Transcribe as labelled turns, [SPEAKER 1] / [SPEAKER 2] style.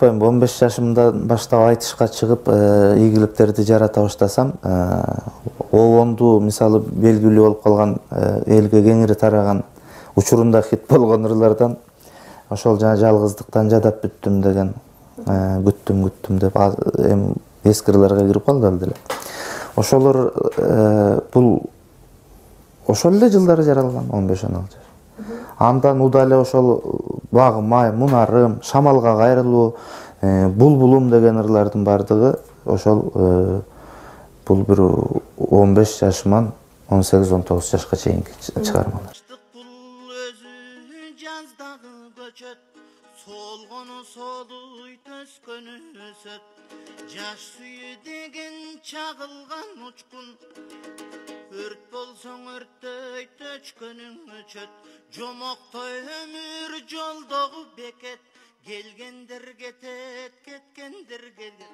[SPEAKER 1] унутпайм, 15 жашымдан баштап айтышка чыгып, ийгиликтерди жарата баштасам, обонду мисалы белгилүү болуп калган, элге кеңири тараган учурунда хит болгон ырлардан ошол жана жалгыздыктан жадап бүттүм деген, күттүм деп эми эски ырларга кирип калды ал деле. Ошолор бул ошол эле жылдары жаралган, 15-16 жаш. Андан удале ошол багым ай, мунарым, шамалга кайрылуу, булбулум деген ырлардын бардыгы ошол бул бир 15 жашыман 18-19 жашка чейинки чыгармалар.
[SPEAKER 2] Солгону солуй төскөнү өсөт, жаш сүйү деген чагылган учкун, өрт болсоң өрттөй төчкөнүң өчөт, жомоктой өмүр жолдогу бекет, келгендер кетет, кеткендер келет,